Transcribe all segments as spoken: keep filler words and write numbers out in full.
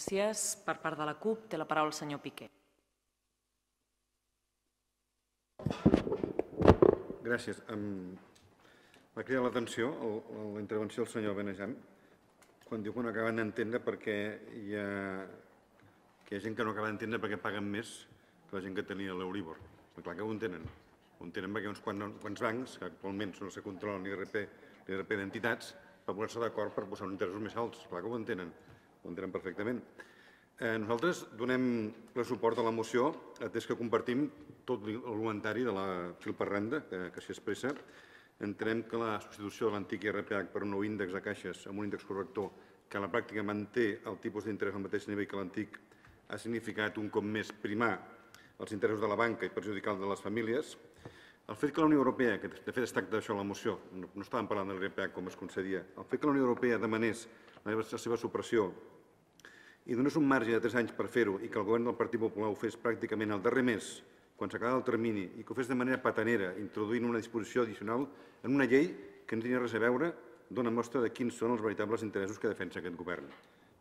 Gràcies. Per part de la CUP té la paraula el senyor Piqué. Gràcies. M'ha cridat l'atenció la intervenció del senyor Benejan quan diu que no acaben d'entendre perquè hi ha, que hi ha gent que no acaba d'entendre perquè paguen més que la gent que tenia l'Euríbor. Clar que ho entenen. Ho entenen perquè uns quants bancs, que actualment no se controlen l'I R P d'entitats, per posar-se d'acord per posar uns interessos més alts. Clar que ho entenen. Ho entenen perfectament. Nosaltres donem ple suport a la moció, atès que compartim tot l'argumentari de la fil per randa que s'hi expressa. Entenem que la substitució de l'antic I R P H per un nou índex de caixes amb un índex corrector que a la pràctica manté el tipus d'interès al mateix nivell que l'antic ha significat un cop més primar els interessos de la banca i perjudicar els de les famílies. El fet que la Unió Europea, que de fet es tracta d'això a la moció, no estàvem parlant de l'I R P H com es concedia, el fet que la Unió Europea demanés la seva supressió i donés un marge de tres anys per fer-ho i que el govern del Partit Popular ho fes pràcticament al darrer mes, quan s'acabava el termini, i que ho fes de manera patanera, introduint una disposició addicional en una llei que no tenia res a veure, dona mostra de quins són els veritables interessos que defensa aquest govern.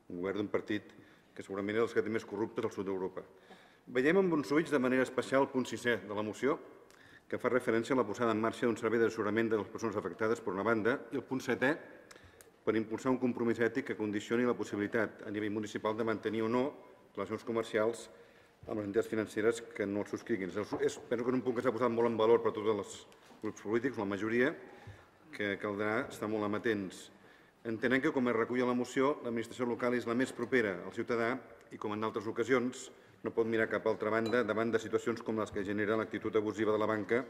Un govern d'un partit que segurament és dels que té més corruptes al sud d'Europa. Veiem amb bons ulls de manera especial el punt sisè de la moció, que fa referència a la posada en marxa d'un servei d'assessorament de les persones afectades per una banda, i el punt setè, per impulsar un compromís ètic que condicioni la possibilitat a nivell municipal de mantenir o no relacions comercials amb les entitats financeres que no els subscriguin. Penso que és un punt que s'ha posat molt en valor per tots els grups polítics, la majoria, que caldrà estar molt amatents. Entenem que, com es recull a la moció, l'administració local és la més propera al ciutadà i, com en d'altres ocasions, no pot mirar cap altra banda davant de situacions com les que genera l'actitud abusiva de la banca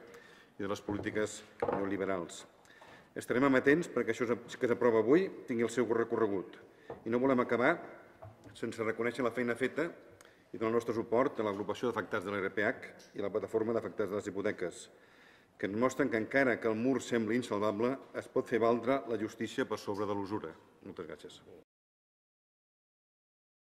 i de les polítiques neoliberals. Estarem amatents perquè això que s'aprova avui tingui el seu recorregut i no volem acabar sense reconèixer la feina feta i donar el nostre suport a l'agrupació d'afectats de l'I R P H i la plataforma d'afectats de les hipoteques, que ens mostren que encara que el mur sembli insalvable, es pot fer valdre la justícia per sobre de l'usura. Moltes gràcies.